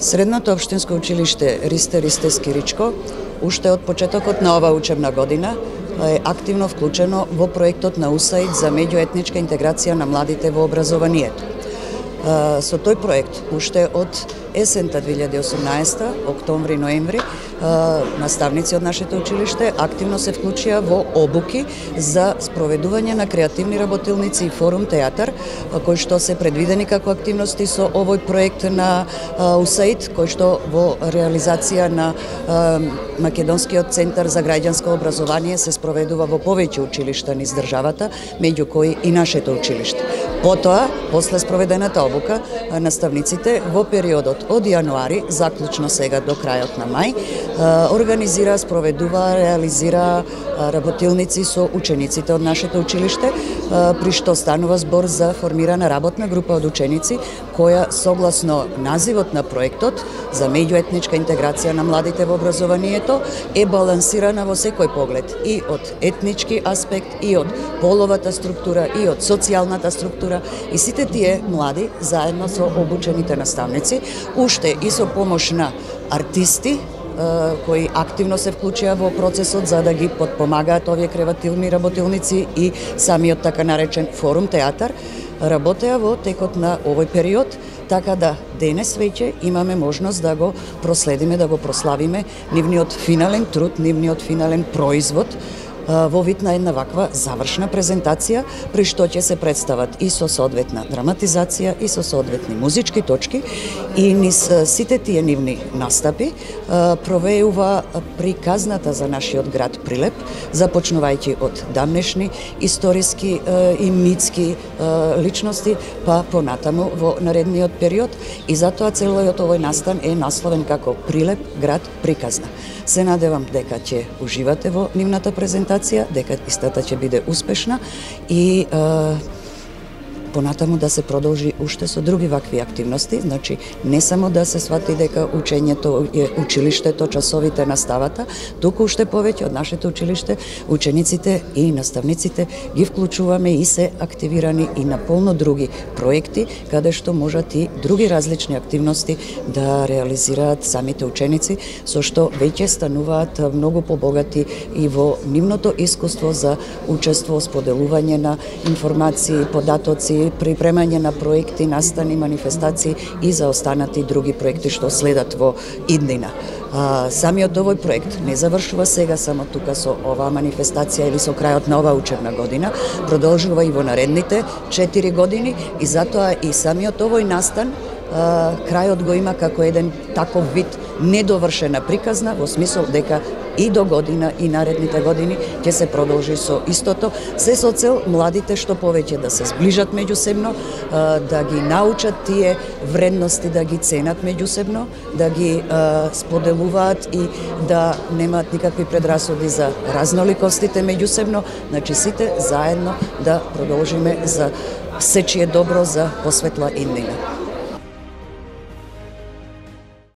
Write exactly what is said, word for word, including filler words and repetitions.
Средното општинско училиште Ристе Ристе Скиричко уште од почетокот на оваа учебна година е активно вклучено во проектот на УСАИД за меѓуетничка интеграција на младите во образованието. Со тој проект уште од есента две илјади и осумнаесета, октомври-ноември, наставници од нашето училиште активно се вклучија во обуки за спроведување на креативни работилници и форум театар, кои што се предвидени како активности со овој проект на УСАИД, кој што во реализација на Македонскиот центар за граѓанско образование се спроведува во повеќе училишта низ државата, меѓу кои и нашето училиште. Потоа, после спроведената обука, наставниците во периодот од јануари, заклучно сега до крајот на мај, организира, спроведува, реализира работилници со учениците од нашето училиште, при што станува збор за формирана работна група од ученици, која согласно називот на проектот за меѓуетничка интеграција на младите во образованието е балансирана во секој поглед, и од етнички аспект, и од половата структура, и од социјалната структура, и сите тие млади, заедно со обучените наставници, уште и со помош на артисти, кои активно се вклучија во процесот за да ги подпомагаат овие креативни работилници и самиот така наречен форум театар, работеа во текот на овој период, така да денес веќе имаме можност да го проследиме, да го прославиме нивниот финален труд, нивниот финален производ во вид на една ваква завршна презентација, при што ќе се представат и со соодветна драматизација, и со соодветни музички точки, и низ сите тие нивни настапи провеува приказната за нашиот град Прилеп, започнувајќи од дамнешни историски и митски личности, па понатаму во наредниот период, и затоа целиот овој настан е насловен како Прилеп, град приказна. Се надевам дека ќе уживате во нивната презентација, дека истата ќе биде успешна и е, понатаму да се продолжи уште со други вакви активности, значи не само да се свати дека учењето е училиштето, часовите, наставата, туку уште повеќе од нашето училиште, учениците и наставниците ги вклучуваме и се активирани и на полно други проекти, каде што можат и други различни активности да реализираат самите ученици, со што веќе стануваат многу побогати и во нивното искуство за учество, споделување на информации, податоци, припремање на проекти, настани, манифестации и за останати други проекти што следат во иднина. А, самиот овој проект не завршува сега само тука со оваа манифестација или со крајот на оваа учебна година, продолжува и во наредните четири години, и затоа и самиот овој настан а, крајот го има како еден таков вид недовршена приказна, во смисол дека и до година и наредните години ќе се продолжи со истото, се со цел младите што повеќе да се зближат меѓусебно, да ги научат тие вредности, да ги ценат меѓусебно, да ги споделуваат и да немаат никакви предрасуди за разноликостите меѓусебно, значи сите заедно да продолжиме за сечие добро за посветла иднина.